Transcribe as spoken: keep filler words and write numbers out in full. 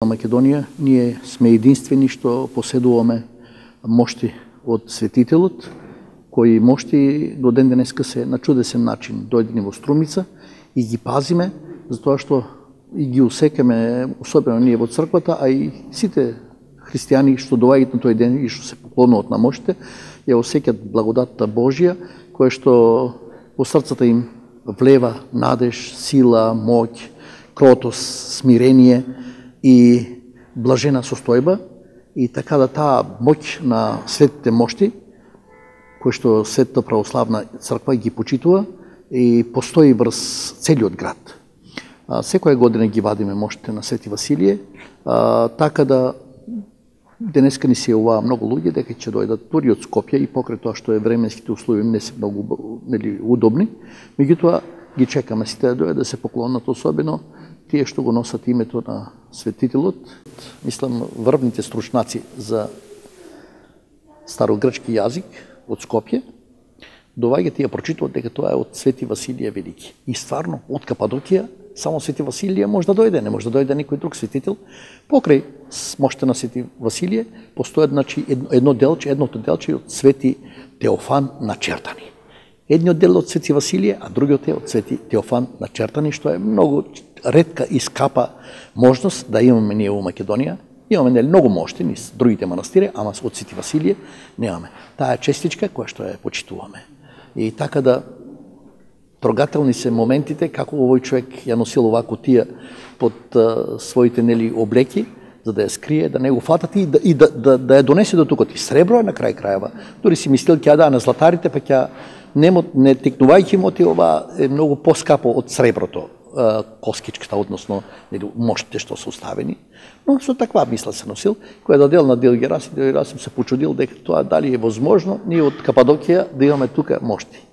Македонија, ние сме единствени што поседуваме мошти од светителот, кои мошти до ден денеска се на чудесен начин дојдени во Струмица и ги пазиме, затоа што и ги усекаме, особено ние во црквата, а и сите христијани што доаѓаат на тој ден и што се поклонуваат на моштите, ја осеќаат благодатта Божја, која што во срцата им влева надеж, сила, моќ, кротост, смирение и блажена состојба, и така да таа моќ на светите мошти, кој што Светата православна црква ги почитува и постои врз целиот град. А, секоја година ги вадиме моштите на Свети Василие, а, така да денеска ни се јавуваат многу луѓе дека ќе дојдат дури од Скопје и покрај тоа што е временските услови не се многу нели удобни, меѓутоа ги чекаме сите да дојдат да се поклонат, особено тие што го носат името на светителот. Мислам, врвните стручнаци за старогрчки јазик од Скопје доваѓаат и ја прочитуваат дека тоа е од Свети Василije Велики. И стварно, од Кападокија, само Свети Василije може да дојде, не може да дојде никој друг светител. Покрај мошта на Свети Василije постојат, значи, едно делче, едното делче од Свети Теофан начертани. Едниот дел од Свети Василije, а другиот е од Свети Теофан начертани, што е многу ретка и скапа можност да имаме ние во Македонија. Имаме нели многу мошти низ другите манастири, ама од Свети Василije немаме. Таа честичка која што ја почитуваме. И така да трогателни се моментите како овој човек ја носил оваа кутија под а, своите нели облеки, за да ја скрие, да не го фатат и да, и да, да, да ја донесе до тукот. И сребро е на крај крајава. Дори си мислил ќе ја даа на златарите, па ќе не, не текнувајќи моти, ова е многу поскапо од среброто, а, коскичката, односно нели моштите што се оставени. Но со таква мисла се носил, која дадел на Дил Герасим, Дил Герасим се почудил дека тоа дали е возможно ние од Кападокија да имаме тука мошти.